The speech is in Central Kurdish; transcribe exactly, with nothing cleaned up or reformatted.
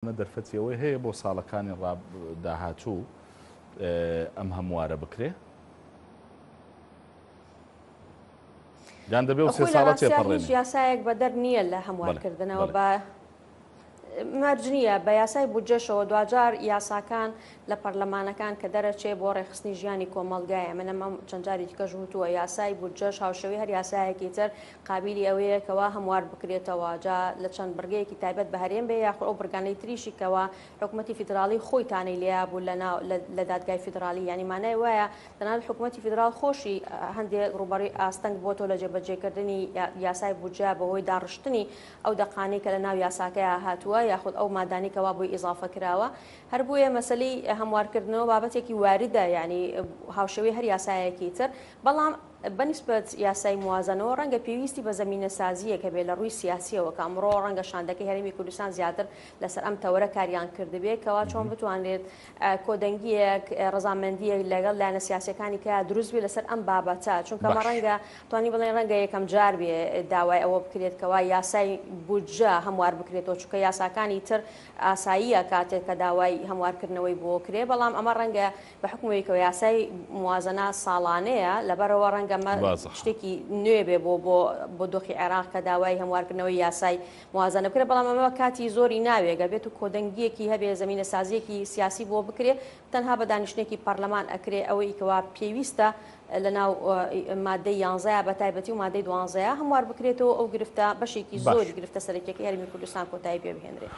دەرفەتی ئەوەی هەیە بۆ ساڵەکانی داهاتوو ئەم هەموارە بکرێ؟ یان دەبێ و سێ ساڵە تێپەڕێنێ؟ هیچ یاسایەک بەدەر نییە لە هەموارکردنەوە، بە مەرج نییە بە یاسای بودجەشەوە. دواجار یاساکان لە پەرلەمانەکان کە دەرەچێ بۆ ڕێکخستنی ژیانی کۆمەڵگایە، من ئەمە چەند جاری دیکەش وتووە، یاسای بودجەش هاوشێوەی هەر یاسایەکی تر قابلی ئەوەیە کەوا هەموار بکرێتەوە، جا لە چەند بڕگەیەکی تایبەت بە هەرێم بێ یاخود ئەو بڕگانەی تریشی کەوا حکوومەتی فیدراڵی خۆی تانەی لێیا بوو لە دادگای فیدراڵی. یعنی مانای وایە تەنانەت حکوومەتی فیدراڵ خۆشی هەندێک ڕووبەڕووی ئاستەنگ بۆتەوە لە جێبەجێکردنی یاسای بودجە بەهۆی داڕشتنی ئەو دەقانەی کە لە ناو یاساکەیا هاتووە یاخود ئەو مادانەی کەوا بۆی ئیزافە کراوە. هەر بۆیە مەسلەی هەموارکردنەوە بابەتێکی واردە، یعنی هاوشێوەی هەر یاسایەکی تر، بەڵام بەنسبەت یاسای موازنەوە ڕەنگە پێویستی بە زەمینەسازیەکە بێ لە ڕووی سیاسیەوە کە ئەمڕۆ ڕەنگە شاندەکەی هەرێمی کوردستان زیاتر لەسەر ئەم تەوەرە کاریان کردبێ کەوا چۆن بتوانرێت کۆدەنگیەک ڕەزامەندیەک لەگەڵ لایەنە سیاسیەکانی کە دروست بێ لەسەر ئەم بابەتە، چونکە ئەمە ڕەنگە توانی بڵێن ڕەنگە یەکەم جار بێ داوای ئەوە بکرێت کەوا یاسای بودجە هەموار بکرێتەوە، چونکە یاساکانی تر ئاساییە کاتێک کە داوای هەموارکردنەوەی بۆ کرێ، بەڵام ئەمە ڕەنگە بە حکومەوەیکەوە یاسای موازنە ساڵانەیە، لەبەرەوە ڕەنگە ئەمە شتێکی نوێ بێ بۆ بۆ دۆخی عێراق کە داوای هەموارکردنەوەی یاسای موازنە بکرێت، بەڵام ئەمە کاتی زۆری ناوێگە بێت و کۆدەنگیەکی هەبێ زەمینەسازیەکی سیاسی بۆ بکرێ، تەنها بە دانیشتێکی پەرلەمان ئەکرێ ئەوەی کەوا پێویستە لەناو مادەی یانزەیە بە تایبەتی و مادەی دوانزەیە هەموار بکرێتەوە ئەو گرفتە بەشێکی زۆری گرفتە سەرەکیەکەی هەرێمی کوردستان کۆتایی پێ بهێنرێت.